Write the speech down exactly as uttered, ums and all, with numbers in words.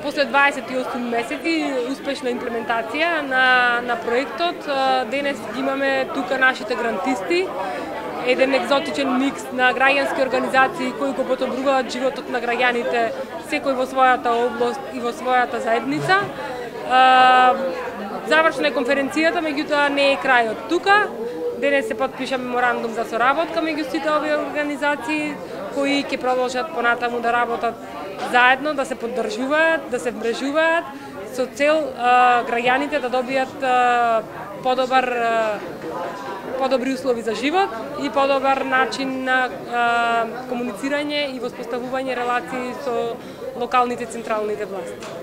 после дваесет и осум месеци успешна имплементација на, на проектот, денес имаме тука нашите грантисти, еден екзотичен микс на граѓански организации кои го подобруваат животот на граѓаните, секој во својата област и во својата заедница. Завршна е конференцијата, меѓутоа не е крајот тука. Денес се потпиша меморандум за соработка меѓу сите овие организации кои ќе продолжат понатаму да работат заедно, да се поддржуваат, да се вмрежуваат со цел а, граѓаните да добијат а, подобар а, подобри услови за живот и подобар начин на а, комуницирање и воспоставување релации со локалните централните власти.